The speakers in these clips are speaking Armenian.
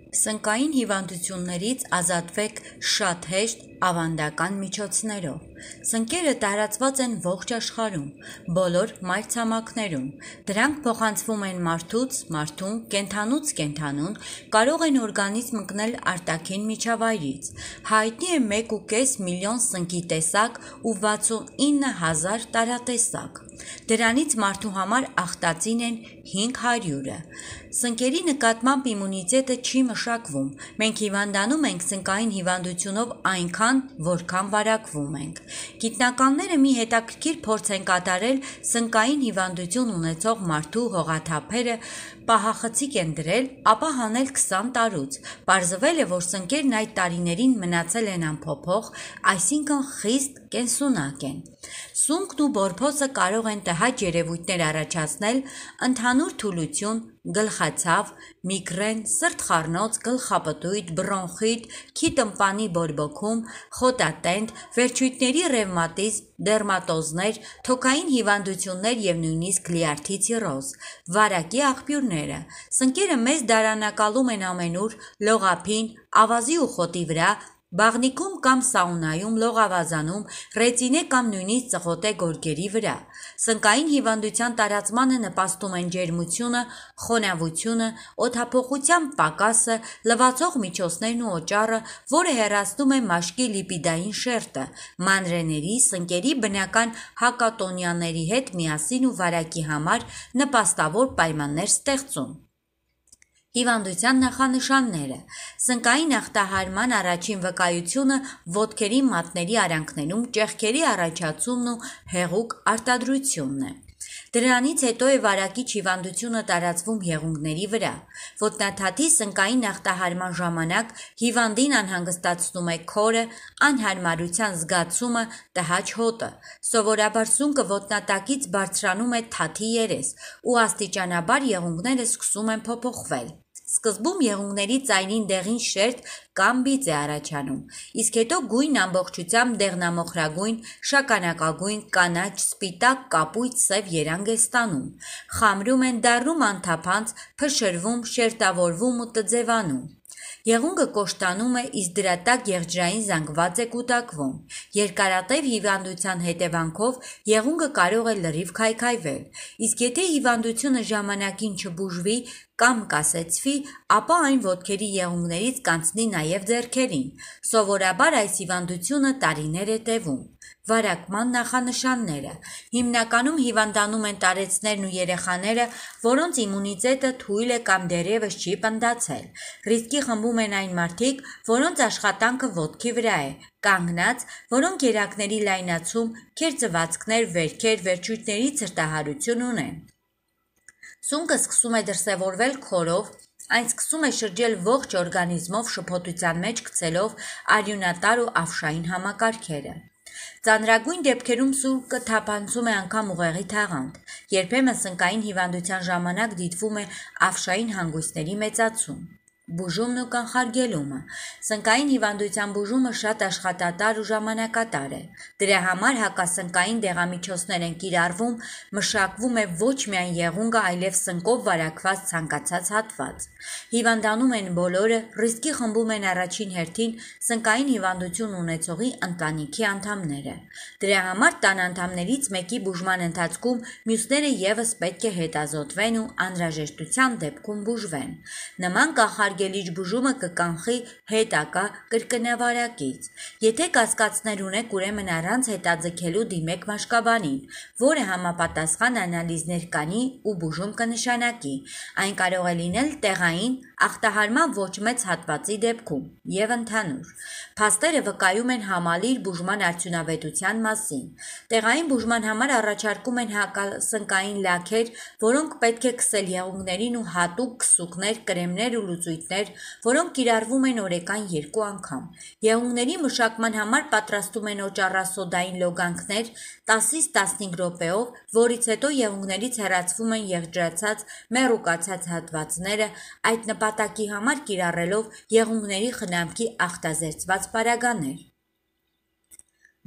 Սնկային հիվանդություններից ազատվեք շատ հեշտ ավանդական միջոցներով։ Սնկերը տարածված են ողջ աշխարհում, բոլոր մայրցամաքներում։ Դրանք փոխանցվում են մարդուց մարդուն, կենդանուց կենդանուն, կարող են օրգանիզմ ընկնել արտաքին միջավայրից։ Հայտնի է 1,5 միլիոն սնկի տեսակ ու 69,000 տարատեսակ։ Դրանից մարդու համար ախտածին են 500-ը։ Սնկերի նկատմամբ իմունիտետը չի մշակվում։ Մենք հիվանդանում ենք սնկային հիվանդությունով այնքան, որքան վարակվում ենք։ Գիտնականները մի հետաքրքիր փորձ են կատարել սնկային հիվանդություն ունեցող մարդու հողաթափերը պահախցիկ են դրել, ապա հանել 20 տարուց։ Պարզվել է, որ սնկերն այդ տարիներին մնացել են անփոփոխ, այսինքն խիստ կենսունակ են։ Սունկն ու բորբոցը կարող են տհաճ երևույթներ առաջացնել, ընդհանուր թուլություն, գլխացավ, միգրեն, սրտխառնոց, գլխապտույտ, բրոնխիտ, քիթ-ըմպանի բորբոքում, խոտատենդ, վերջույթների ռևմատիզմ, դերմատոզներ, թոքային հիվանդություններ և նույնիսկ լյարդի ցիրոզ։ Վարակի աղբյուրները։ Սնկերը մեզ դարանակալում են ամենուր, լողափին, ավազի ու խոտի վրա, բաղնիքում կամ սաունայում, լողավազանում, ռետինե կամ նույնիսկ ծղոտե գորգերի վրա։ Սնկային հիվանդության տարածմանը նպաստում են ջերմությունը, խոնավությունը, օդափոխության պակասը, լվացող միջոցներն ու օճառը, որը հեռացնում է մաշկի լիպիդային շերտը, մանրէների, սնկերի բնական հակատոնյանների հետ միասին ու վարակի համար նպաստավոր պայմաններ ստեղծում։ Հիվանդության նախանշանները։ Սնկային ախտահարման առաջին վկայությունը ոտքերի մատների արանքներում ճեղքերի առաջացումն ու հեղուկ արտադրությունն է։ Դրանից հետո է վարակիչ հիվանդությունը տարածվում եղունգների վրա։ Ոտնաթաթի սնկային ախտահարման ժամանակ հիվանդին անհանգստացնում է քորը, անհարմարության զգացումը, տհաճ հոտը։ Սովորաբար սունկը ոտնատակից բարձրանում է թաթի երես, ու աստիճանաբար եղունգները սկսում են փոփոխվել։ Սկզբում եղունգների ծայրին դեղին շերտ կամ բիծ է առաջանում, իսկ հետո գույնն ամբողջությամբ դեղնամոխրագույն, շագանակագույն, կանաչ, սպիտակ, կապույտ, սև երանգ է ստանում։ Խամրում են, դառնում անթափանց, փշրվում, շերտավորվում ու տձևանում։ Եղունգը կոշտանում է, իսկ դրա տակ եղջերային զանգված է կուտակվում։ Երկարատև հիվանդության հետևանքով եղունգը կարող է լրիվ քայքայվել, իսկ եթե հիվանդությունը ժամանակին չբուժվի կամ կասեցվի, ապա այն ոտքերի եղունգներից կանցնի նաև ձեռքերին։ Սովորաբար այս հիվանդությունը տարիներ է տևում։ Վարակման նախանշանները։ Հիմնականում հիվանդանում են տարեցներն ու երեխաները, որոնց իմունիտետը թույլ է կամ դեռևս չի պնդացել։ Ռիսկի խմբում են այն մարդիկ, որոնց աշխատանքը ոտքի վրա է, կանգնած, որոնք երակների լայնացում, քերծվածքներ, վերքեր, վերջույթների ցրտահարություն ունեն։ Սունկը սկսում է դրսևորվել քորով, այն սկսում է շրջել ողջ օրգանիզմով շփոթության մեջ գցելով արյունատար ու ավշային համակարգերը։ Ծանրագույն դեպքերում սունկը թափանցում է անգամ ուղեղի թաղանթ։ Երբեմն սնկային հիվանդության ժամանակ դիտվում է ավշային հանգույցների մեծացում։ Բուժումն ու կանխարգելումը։ Սնկային հիվանդության բուժումը շատ աշխատատար ու ժամանակատար է։ Դրա համար հակասնկային դեղամիջոցներ են կիրառվում, մշակվում է ոչ միայն եղունգը, այլև սնկով վարակված ցանկացած հատված։ Հիվանդանում են բոլորը, ռիսկի խմբում են առաջին հերթին սնկային հիվանդություն ունեցողի ընտանիքի անդամները։ Դրա համար տան անդամներից մեկի բուժման ընթացքում մյուսները ևս պետք է հետազոտվեն ու անհրաժեշտության դեպքում բուժվեն։ Նման կանխարգելիչ բուժումը կկանխի հետագա կրկնավարակից։ Եթե կասկածներ ունեք, ուրեմն առանց հետաձգելու դիմեք մաշկաբանին, որը համապատասխան անալիզներ կանի ու բուժում կնշանակի։ Այն կարող է լինել տեղային, ախտահարման ոչ մեծ հատվածի դեպքում և ընդհանուր։ Փաստերը վկայում են համալիր բուժման արդյունավետության մասին։ Տեղային բուժման համար առաջարկում են հակասնկային լաքեր, որոնք պետք է քսել եղունգներին ու հատուկ քսուկներ, կրեմներ ու լուծույթներ, որոնք կիրառվում են օրեկան 2 անգամ։ Եղունգների մշակման համար պատրաստում են օճառասոդային լոգանքներ 10-ից 15 րոպեով, որից հետո եղունգներից հեռացվում են եղջերացած, մեռուկացած հատվածները, այդ նպատակի համար կիրառելով եղունգների խնամքի ախտազերծված պարագաներ։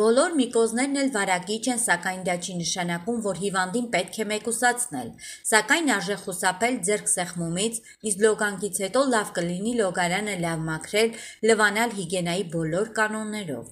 Բոլոր միկոզներն էլ վարակիչ են, սակայն դա չի նշանակում, որ հիվանդին պետք է մեկուսացնել, սակայն արժե խուսափել ձեռք սեղմումից, իսկ լոգանքից հետո լավ կլինի լոգարանը լավ մաքրել, լվանալ հիգիենայի բոլոր կանոններով։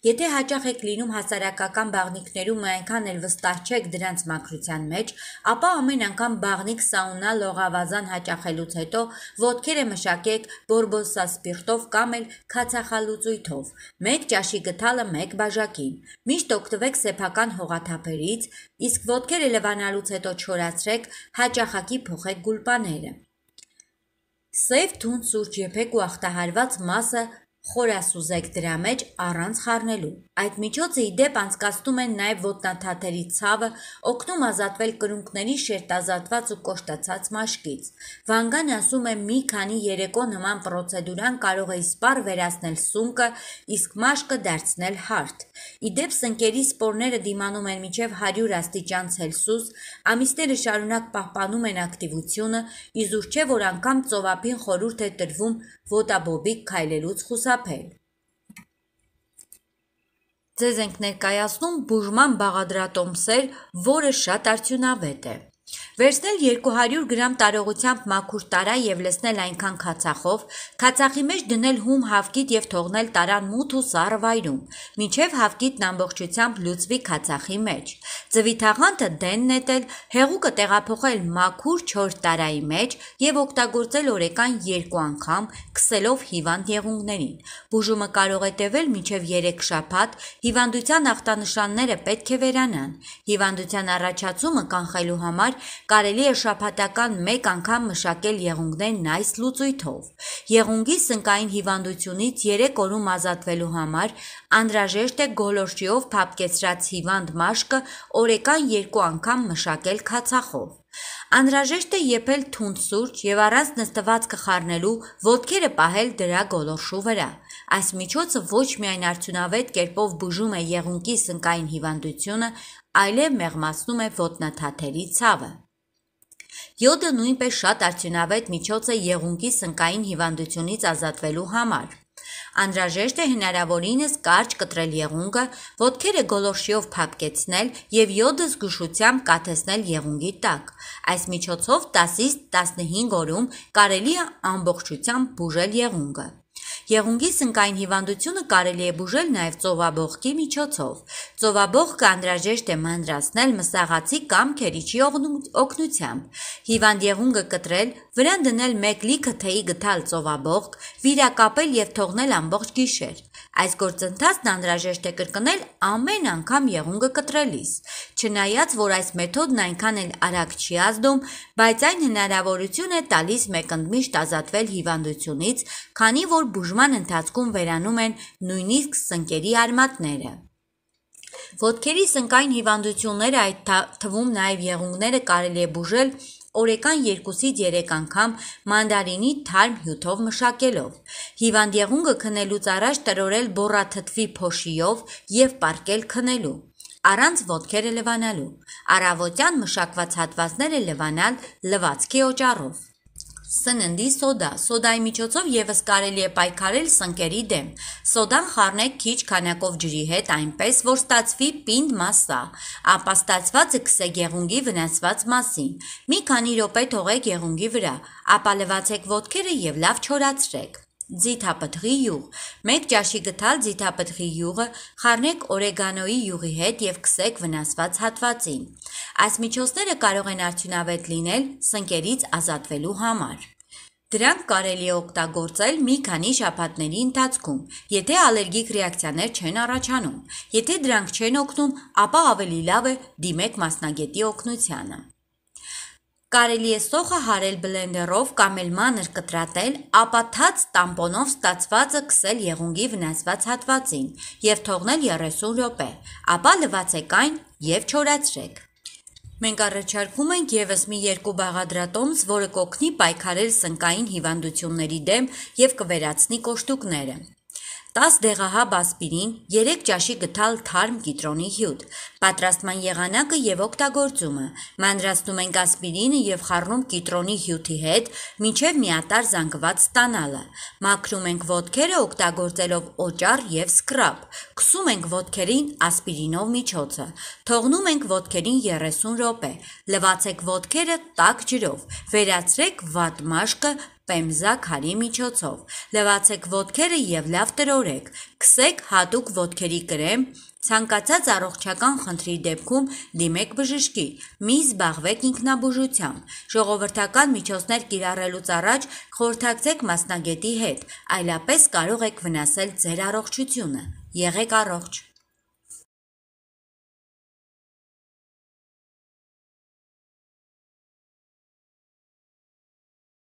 Եթե հաճախ եք լինում հասարակական բաղնիքներում ու այնքան էլ վստահ չեք դրանց մաքրության մեջ, ապա ամեն անգամ բաղնիք սաունա լողավազան հաճախելուց հետո ոտքերը մշակեք բորբոսասպիրտով կամ էլ քացախալուծույթով, 1 ճաշի գդալը 1 բաժակին, միշտ օգտվեք սեփական հողաթափերից, իսկ ոտքերը լվանալուց հետո չորացրեք, հաճախակի փոխեք գուլպաները։ Սև թունդ սուրճ եփեք ու ախտահարված մասը խորասուզեք դրա մեջ առանց խառնելու։ Այդ միջոցը ի դեպ անցկացնում են նաև ոտնաթաթերի ցավը, օգնում ազատվել կրունկների շերտազատված ու կոշտացած մաշկից։ Վանգան ասում է մի քանի երեկո նման պրոցեդուրան կարող է իսպառ վերացնել սունկը, իսկ մաշկը դարձնել հարթ։ Ի դեպ սնկերի սպորները դիմանում են մինչև 100 աստիճան Ցելսիուս, ամիսները շարունակ պահպանում են ակտիվությունը, իզուր չէ որ անգամ ծովափին խորհուրդ է տրվում ոտաբոբիկ քայլելուց խուսափել։ Ձեզ ենք ներկայացնում բուժման բաղադրատոմսեր, որը շատ արդյունավետ է։ Վերցնել 200 գրամ տարողությամբ մաքուր տարա եւ լցնել այնքան քացախով, քացախի մեջ դնել հում հավկիտ եւ թողնել տարան մութ ու սառը վայրում, մինչեւ հավկիտն ամբողջությամբ լուծվի քացախի մեջ։ Ձվի թաղանթը դեն նետել, հեղուկը տեղափոխել մաքուր չոր տարայի մեջ եւ օգտագործել օրեկան 2 անգամ, քսելով հիվանդ եղունգներին։ Բուժումը կարող է տևել մինչեւ 3 շաբաթ, հիվանդության ախտանշանները պետք է վերանան։ Հիվանդության առաջացումը կանխելու համար կարելի է շաբաթական 1 անգամ մշակել եղունգներն այս լուծույթով։ Եղունգի սնկային հիվանդությունից 3 օրում ազատվելու համար անհրաժեշտ է գոլորշիով փափկեցրած հիվանդ մաշկը օրեկան 2 անգամ մշակել քացախով։ Անհրաժեշտ է եփել թունդ սուրճ եւ առանց նստվածքը խառնելու ոտքերը պահել դրա գոլորշու վրա։ Այս միջոցը ոչ միայն արդյունավետ կերպով բուժում է եղունգի սնկային հիվանդությունը, այլև մեղմացնում է ոտնաթաթերի ցավը։ Յոդը նույնպես շատ արդյունավետ միջոց է եղունգի սնկային հիվանդությունից ազատվելու համար։ Անհրաժեշտ է հնարավորինս կարճ կտրել եղունգը, ոտքերը գոլորշիով փափկեցնել եւ յոդը զգուշությամբ կաթեցնել եղունգի տակ։ Այս միջոցով 10-ից 15 օրում կարելի է ամբողջությամբ բուժել եղունգը։ Եղունգի սնկային հիվանդությունը կարելի է բուժել նաև ծովաբողկի միջոցով։ Ծովաբողկը անհրաժեշտ է մանրացնել մսաղացի կամ քերիչի օգնությամբ։ Հիվանդ եղունգը կտրել, վրան դնել 1 լիքը թեյի գդալ ծովաբողկ, վիրակապել եւ թողնել ամբողջ գիշեր։ Այս գործընթացն անհրաժեշտ է կրկնել ամեն անգամ եղունգը կտրելիս։ Չնայած որ այս մեթոդն այնքան էլ արագ չի ազդում, բայց այն հնարավորություն է տալիս մեկընդմիշտ ազատվել հիվանդությունից, քանի որ բուժման ընթացքում վերանում են նույնիսկ սնկերի արմատները։ Ոտքերի սնկային հիվանդությունները, այդ թվում նաև եղունգները կարելի է բուժել օրեկան 2-ից 3 անգամ մանդարինի թարմ հյութով մշակելով։ Հիվանդ եղունգը քնելուց առաջ տրորել բոռաթթվի փոշիով եւ պառկել քնելու, առանց ոտքերը լվանալու։ Առավոտյան մշակված հատվածները լվանալ լվացքի օճառով։ Սննդի սոդա։ Սոդայի միջոցով եւս կարելի է պայքարել սնկերի դեմ։ Սոդան խառնեք քիչ քանակով ջրի հետ այնպես, որ ստացվի պինդ մասսա, ապա ստացվածը քսեք եղունգի վնասված մասին։ Մի քանի րոպե թողեք եղունգի վրա, ապա լվացեք ոտքերը եւ լավ չորացրեք։ Ձիթապտղի յուղ։ 1 ճաշի գդալ ձիթապտղի յուղը խառնեք օրեգանոյի յուղի հետ եւ քսեք վնասված հատվածին։ Այս միջոցները կարող են արդյունավետ լինել սնկերից ազատվելու համար։ Դրանք կարելի է օգտագործել մի քանի շաբաթների ընթացքում, եթե ալերգիկ ռեակցիաներ չեն առաջանում։ Եթե դրանք չեն օգնում, ապա ավելի լավ է դիմեք մասնագետի օգնությանը։ Կարելի է սոխը հարել բլենդերով կամ էլ մանր կտրատել, ապա թաց տամպոնով ստացվածը քսել եղունգի վնասված հատվածին եւ թողնել 30 րոպե, ապա լվացեք այն եւ չորացրեք։ Մենք առաջարկում ենք եւս մի 2 բաղադրատոմս, որը կօգնի պայքարել սնկային հիվանդությունների դեմ եւ կվերացնի կոշտուկները։ 10 դեղահաբ ասպիրին, 3 ճաշի գթալ թարմ կիտրոնի հյութ, պատրաստման եղանակը և օգտագործումը, մանրացնում ենք ասպիրինը և խառնում կիտրոնի հյութի հետ, մինչև միատարր զանգված ստանալը, մաքրում ենք ոտքերը օգտագործելով օճառ և սքրաբ, քսում ենք ոտքերին ասպիրինով միջոցը, թողնում ենք ոտքերին 30 րոպե, լվացեք ոտքերը տաք ջրով, վերացրեք վատ մաշկը պեմզա քարի միջոցով, լվացեք ոտքերը և լավ տրորեք, քսեք հատուկ ոտքերի կրեմ, ցանկացած առողջական խնդրի դեպքում դիմեք բժշկի, մի զբաղվեք ինքնաբուժությամբ, ժողովրդական միջոցներ կիրառելուց առաջ խորհրդակցեք մասնագետի հետ, այլապես կարող եք վնասել ձեր առողջությունը, եղեք առողջ։